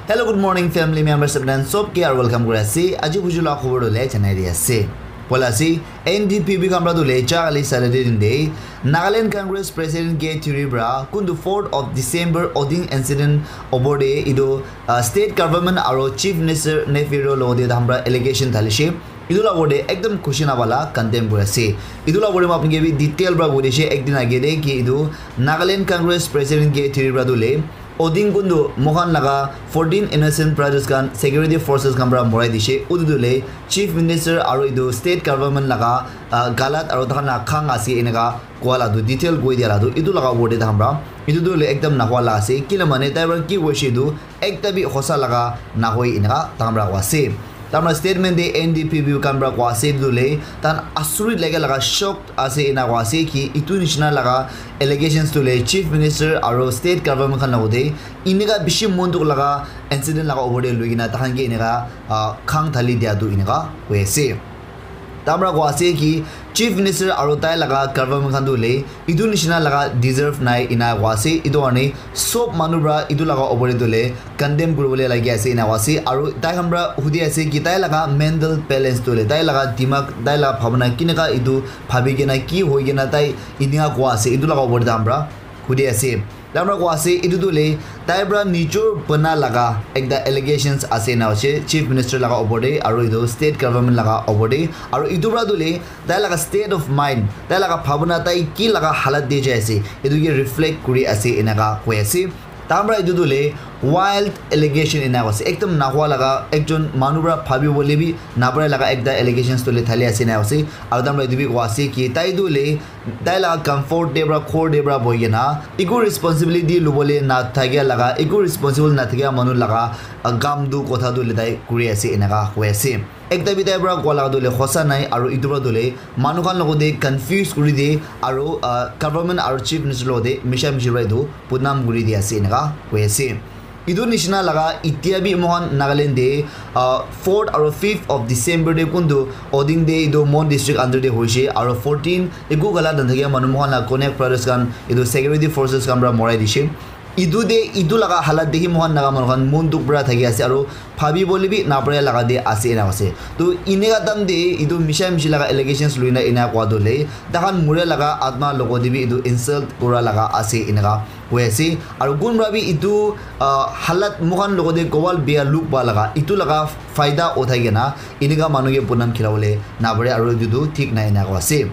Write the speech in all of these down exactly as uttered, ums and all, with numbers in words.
Hello, good morning, family members, apni khan sob ke aru welcome kuri ase. Aji buju la khobor dole janai di ase. Poila ase, N D P B khan pra dole cha kali Saturday din de Nagaland Congress President K Thiri pra kuntu fourth of December Oding incident opor de idu, uh, state government aro Chief Minister Neiphiu Rio logo de tahan pra allegation thalishe. Idu la opor de ekdam khushi nabala condemn kuri ase. Idu la opor de ma apni ke bi detail pra kuri dishe ekdin age de ki idu Nagaland Congress President K Thiri pra dole Oding kundu moikhan laga fourteen innocent brothers khan security forces khan pra morai dishe. Utu tu le Chief Minister aro etu state government laga, ah, galat aro takhan laga khang ase eneka koa la tu detail koi dia la tu etu laga opor te takhan pra etu tu le ekdam nahua la ase. Kila mane tai pra ki koishe etu ekta bi hosa laga nahoi eneka takhan pra koa ase. Tamra statement de N D P B khan pra koa ase etu le tan asurit lage laga shock ase ena koa ase ki itu nishina laga allegations tu le Chief Minister aro state government khan logode inika bishi mon dukh laga incident laga opor de lui kena tahan ke inika, ah, khang thali dia tu inika koi ase. Tamra koa ase ki Chief Minister aro tai laga government khan tu le itu nishina laga deserve nai ena koa ase. Itu karne sob manu pra itu laga opor de tu le condemn kuribole lagi ase ena koa ase. Aro tai khan pra hudi ase ki tai laga mental balance tu le, tai laga dimag, tai laga bhabna kineka itu bhabi kena ki hoi kena tai inika koa ase, itu laga opor de tahan pra hudi ase. Tai pra koa ase, itu tu le tai pra nijor bana laga ekta allegations ase na hoise Chief Minister laga opor de aro itu state government laga opor de. Aro itu pra tu le tai laga state of mind, tai laga bhabna, tai ki laga halat de jai ase, itu ke reflect kuri ase eneka koi ase. Tamra itu tu le wild allegation ena koa ase. Ekdam nahua laga ekjon manu pra bhabi bole bi napare laga ekta allegations tu le thali ase ena koa ase. Aro tamra itu bi koa ase ki tai tu le tai laga comfort de pra, ghor de pra bohi kena eku responsibility lubole na thakia laga, eku responsible na thakia manu laga, ah, kam tu kotha tu le tai kuri ase eneka koi ase. Ekta bi tai pra koa laga tu le hosa nai aro itu pra tu le manu khan logode confuse kuri de aro, ah, government aro Chief Minister logode misha mishi pra etu bodnam kuri di ase eneka koi ase. Itu nishina laga itia bi moikhan Nagaland de, ah, fourth aro fifth of December de kuntu Oding de itu Mon district under de hoishe aro fourteen eku galat nathakia manu moikhan la Konyak brothers khan itu security forces khan pra morai dishe. Itu de itu laga halat dekhi moikhan Naga manu khan mon dukh pra thaki ase aro bhabi bole bi napare laga de ase ena ase. To inika time de itu misha mishi laga allegations luina ena koa tu le takhan mure laga atma logode bi itu insult kura laga ase eneka koi ase. Aro kunba bi itu, ah, halat moikhan logode gowal bia look ba laga itu laga faida uthai kena inika manu ke bodnam khilabole napare aro itu tu thik nai ena koa ase.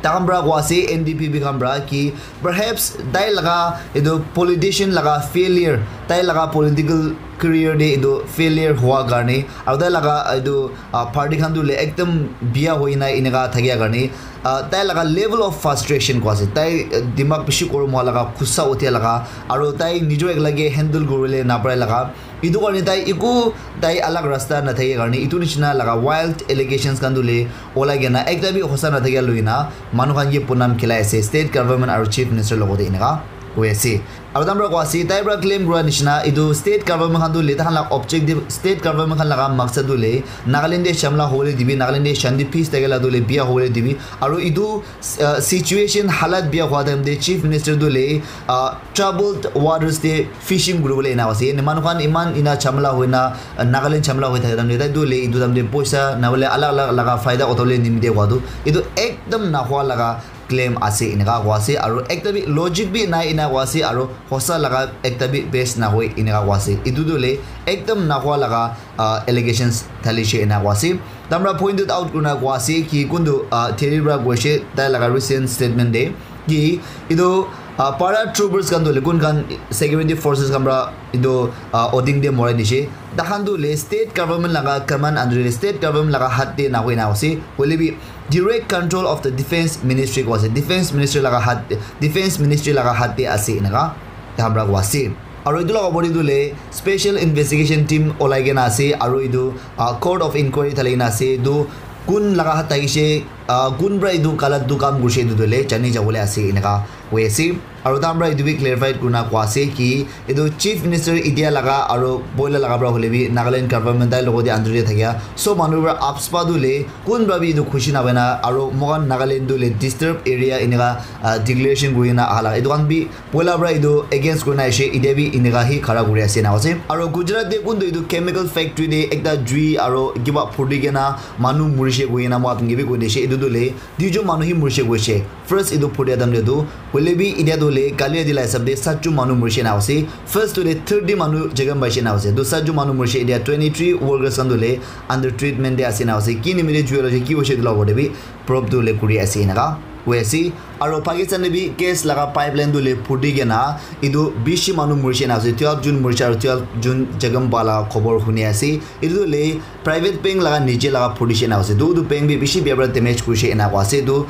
Takhan pra koa ase N D P B khan pra ki perhaps tai laga itu politician laga failure, tai laga political career de itu failure hua karne aro tai laga itu, ah, party khan tu le ekdam bia hoi na eneka thakia karne, ah, tai laga level of frustration koa ase. Tai, ah, dimag bishi gorom hua laga, gussa uthia laga, aro tai nijor ekla ke handle kuribole napare laga. Itu karne tai eku tai alag rasta nathakia karne itu nishina laga wild allegations khan tu le olai kena ekta bi hosa nathakia luina manu khan ke bodnam khilai ase state government aro Chief Minister logode eneka koi ase. Aro tamra koa ase, tai pra claim kura nishina itu state government khan tu le takhan la objective, state government khan laga maksad tu le Nagaland de shamla hobole dibi, Nagaland de shanti peace thakela tu le bia hobole dibi. Aro itu, uh, situation halat bia hua time de Chief Minister tu le, uh, troubled waters de fishing kuribole ena ase. Ene manu khan iman ena jhamela hoina, uh, Nagaland jhamela hoi thaka time de tai tu le itu time de poisa nabole alag alag laga faida uthole nimite hua tu itu ekdam nahua laga claim ase eneka koa ase, aro ekta bi logic bi nai ena koa ase, aro hosa laga ekta bi base nahoi eneka koa ase. Itu tu le ekdam nahua laga, ah, allegations thalishe ena koa ase. Tamra pointed out kurina koa ase ki kuntu, ah, Thiri pra koishe tai laga recent statement de ki itu, ah, para troopers khan tu le kun khan security forces khan pra itu, ah, Oding de morai dishe. Takhan tu le state government laga command under de state government laga hat de nahoi na ase. Hoile bi direct control of the defense ministry koa ase. Defense ministry laga hat, defense ministry laga hat de ase eneka tamra koa ase. Aro itu laga opor de tu le special investigation team olai kena ase. Aro itu, ah, court of inquiry thali kena ase. Itu kun laga hat thakishe, Ah, kun pra etu galat tu kam kurishe etu tu le jani jabo le ase eneka koi ase. Aro tai khan pra etu bi clarified kurina koi ase ki etu Chief Minister India laga aro boila laga pra hoile bi Nagaland government tai logote under te thakia sob manu pra AFSPA tu le kun pra bi etu khushi napaina aro moikhan Nagaland tu le disturbed area eneka, ah, declaration kurina ahala etu khan bi Poila pra etu against kurina aishe, etia bi eneka hi khara kuri ase ena ase. Aro Gujarat te kuntu etu chemical factory te ekta jui aro kiba phudi kena manu murishe koi kena moi apni ke bi koi dishe. Etu tu le duijon manu hi murishe koishe. First etu phudia time te tu hoile bi etia tu le kali adi la hisab te satjon manu murishe ena ase. First tu le thirty manu jaga paishe ena ase. Tu satjon manu murishe, etia twenty three workers khan tu le under treatment te ase ena ase. Ki nimite jui la ki hoishe etu la opor te bi probe tu le kuri ase eneka koi ase. Aro Pakistan te bi gas laga pipeline tu le phuti kena etu bishi manu murishe na ase, twelve jon murishe aro twelve jon jakham pa la khobor huni ase. Etu tu le private bank laga niche laga phutishe na ase, tu tu bank bi bishi bia pra damage kurishe ena koi ase. Tu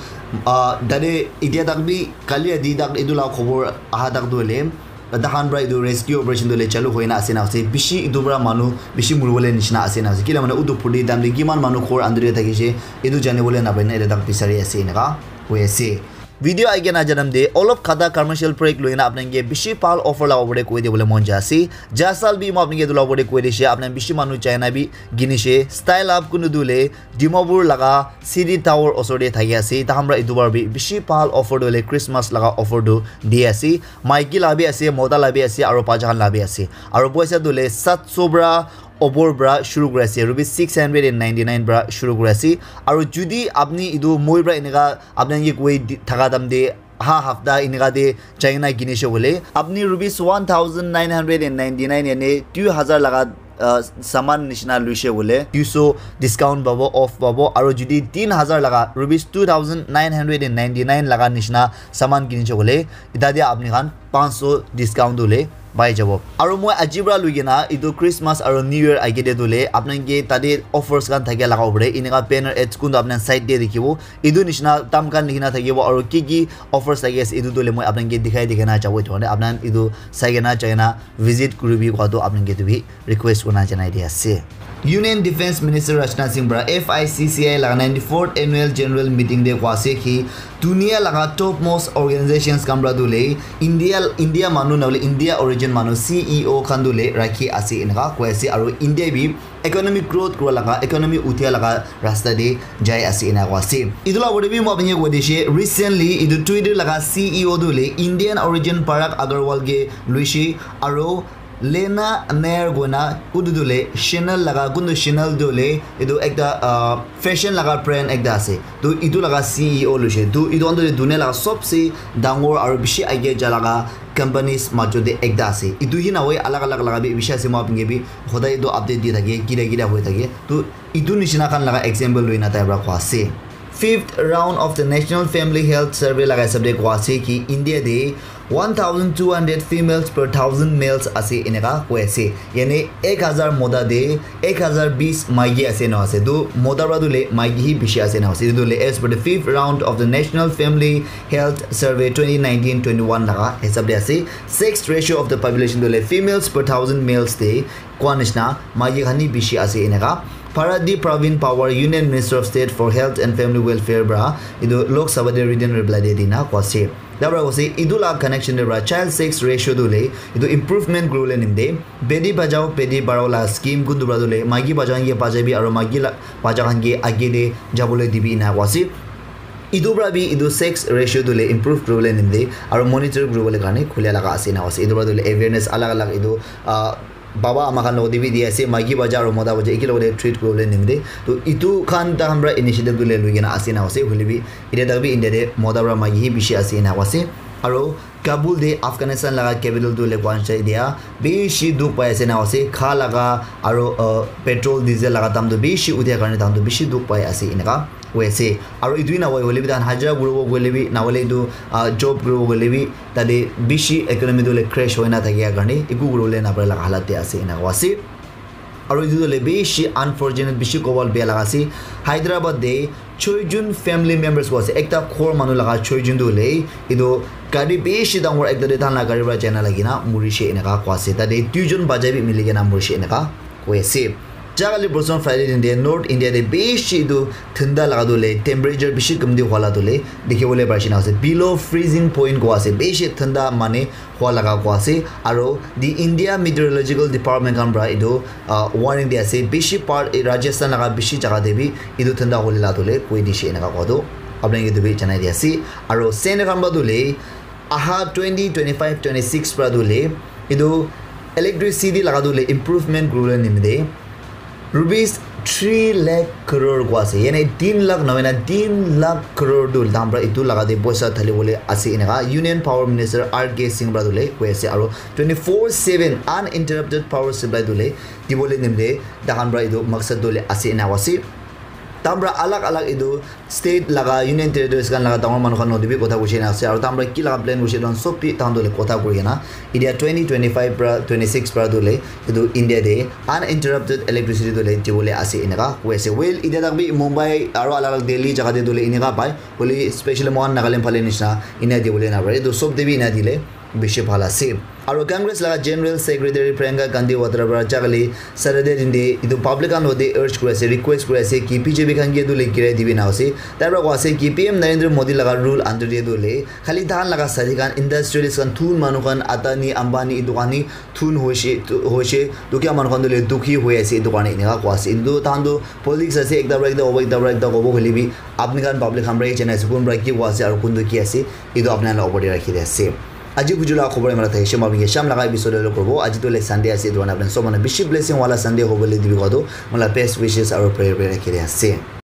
ah tate etia tak bi kali adi tak etu la khobor aha tak tu hoile Tahan pra etu rescue operation tu le chalu hoina ase na ase. Bishi etu pra manu bishi muribole nishina ase na ase. Kila mane utu phuti time te kiman manu ghor under te thakishe, etu janibole napaina ete tak bisari ase eneka koi ase. Video aage na janam de olop khata commercial break loina apnanke bishi bhal offer la opor te koi dibole mon jai ase. Jasal bi mo apnanke etu la opor te koi dishe, apnan bishi manu China bi ginishe. Style Up kunu tu le Dimapur laga City Tower osor te thaki ase. Tahan pra etu bar bi bishi bhal offer tu hoile Christmas laga offer tu di ase. Maiki la bi ase, mota la bi ase, aro bacha khan la bi ase. Aro poisa tu hoile sat so pra opor pra shuru kuri ase. Rupees six hundred and ninety nine pra shuru kuri ase. Aro judi apni etu moi pra eneka apni ke koi di- thaka dam te ha hafta eneka te China kinishe koile apni rupees one thousand nine hundred and ninety nine yane two hazar laga uh, saman nishina luishe koile two so discount pabo, off pabo, aro judi tin hazar laga rupees two thousand nine hundred and ninety nine laga nishina saman kinishe koile eta dia apni khan panch so discount dule pai jabo. Aro moi aji pra lui kena etu Christmas aro New Year age te dule apnanke tate offers khan thakia laga opor te eneka banner ads kuntu apnan side te dikhibo. Etu nishina tam khan likhina thakibo aro ki ki offers thaki ase etu tu hoile moi apnanke dikhai dikhai na jabo etu karne apnan etu sai kena jai kena visit kuribi koa tu apnanke etu bi request kurina janai di ase. Union Defence Minister Rajnath Singh para F I C C I laga ninety-fourth Annual General Meeting te koa ase ki dunia laga topmost organizations khan para tu le India, India manu na hoile India origin manu C E O khan tu le rakhi ase eneka koi ase aru India bi economic growth kura laga, economy uthia laga rasta te jai ase ena koa ase. Etu la opor te bi moi apni ke koi dishe, recently etu Twitter laga C E O tu hoile Indian origin Parag Agrawal ke luishe, aro Lena Nair koina utu tu hoile Chanel laga, kuntu Chanel tu hoile etu ekta, ah, fashion laga brand ekta ase. Tu etu laga C E O luishe. Tu etu khan tu hoile dunia laga sobse dangor aro bishi age ja laga companies majot te ekta ase. Etu hi nahoi alag alag laga bi bishi ase, moi apni ke bi hodai etu update di thake, kida kida hoi thake. Tu etu nishina khan laga example loina tai para koa ase. Fifth round of the National Family Health Survey laga hisab te koa ase ki India te one thousand two hundred females per thousand males ase eneka koi ase. Yani ek hazar mota te ek hazar bis maiki ase na ase. Tu mota para tu le maiki hi bishi ase na ase. Tu le as per the fifth round of the National Family Health Survey twenty nineteen twenty-one laga hisab te ase. Sex ratio of the population tu le females per thousand males te koa nishina maiki khan hi bishi ase eneka. Paradip Pravin Pawar, Union Minister of State for Health and Family Welfare para etu Lok Sabha te written reply te dina koa ase. Tar para koa ase etu la connection te para child sex ratio tu le etu improvement kuribole nimite Beti Bachao Beti Padhao la scheme kuntu para tu le maiki bacha khan ke bachai bi aru maiki la bacha khan ke age te jabole dibi ena koa ase. Etu para bi etu sex ratio tu le improve kuribole nimite aru monitor kuribole karne khulia laga ase ena koa ase. Etu para tu le awareness alag alag etu, ah, baba ama khan logot te bi di ase, maiki bacha aru mota bacha eki logot te treat kuribole nimite. To etu khan tai khan para initiative tu le lui kena ase ena ase, hoile bi etia tak bi India te mota para maiki hi bishi ase ena ase. Aro Kabul te Afghanistan laga capital tu le koa nishe dia bishi dukh pai ase ena ase, kha laga aro, uh, petrol diesel laga dam tu bishi uthia karne tai khan tu bishi dukh pai ase eneka koi ase. Aro etu hi nahoi hoile bi tai khan hajira kuribo koile bi nahole etu, ah, job kuribo koile bi tate bishi economy tu hoile crash hoina thakia karne eku kuribole napare laga halat te ase ena koa ase. Aro etu tu hoile bishi unfortunate, bishi kobal bia laga ase. Hyderabad te choi jon family members koa ase, ekta ghor manu laga choi jon tu hoile etu gari bishi dangor ekta te tai khan la gari para jai na lagi na murishe eneka koa ase. Tate duijon bachai bi mili kena murishe eneka koi ase. Jagale Boson Friday din de North India de bishi etu thanda laga tu le temperature bishi kamti hua la tu le dikhi bole pari shina ase, below freezing point kua ase, bishi thanda mane hua laga kua ase. Aro the India Meteorological Department khan pra etu uh, warning di ase, bishi part eh, Rajasthan laga bishi jaga de bi etu thanda hole la tu le koi di she eneka kua tu apni ke tu bi janai di ase. Aro Sen khan pra tu le aha twenty twenty-five twenty-six pra tu le etu electricity laga tu le improvement kuribole nimite rupees three lakh crore kua ase, yane tin lakh na hoina tin lakh crore tu dam pra etu laga de poisa thali bole ase eneka Union Power Minister R K Singh pra tu le koi ase. Aro twenty-four seven uninterrupted power supply tu le dibole nimite tahan pra etu maksad tu le ase ena ase. Tahan pra alag alag etu state laga Union Territories khan laga dangor manu khan loti bi kotha kuchi na ase, aro tahan pra ki laga plan kuchi tahan sob bi tahan tu le kotha kuri kena etia twenty twenty-five pra twenty-six pra tu le etu India de uninterrupted electricity tu le dibole ase eneka koi ase. Well, etia tak bi Mumbai aro alag alag Delhi jaga de tu le eneka pai, hoile specially mohan Nagaland phale nishina ena dibole na pare, etu sob de bi ena dile bishi bhal ase. Aro Congress laga General Secretary Priyanka Gandhi Watra pra jagale Saturday din de etu public khan lode urge kuri ase, request kuri ase ki B J P khan ke etu le girai dibi na ase. Tai pra koi ase ki P M Narendra Modi laga rule under de tu le khali tahan laga sadi khan, industrialist khan, thun manu khan, Adani, Ambani etu khan hi thun hoishe, tu- hoishe, dukhia manu khan tu le dukhi hoi ase, etu karne eneka koi ase. Etu tahan tu politics ase, ekta pra ekta kobo, ekta pra ekta kobo hoile bi apni khan public khan pra hi janai ase kun pra ki koi ase aro kun tu ki ase, etu apni khan la opor de rakhi de ase. Aji buju la khobor imara thakishe, moi apni ke sham laga episode lo kobo. Aji tu le Sunday ase, etu karne apni sob manu bishi blessing wala Sunday hobole dibi koi tu moi la best wishes aro prayer bi rakhi de ase.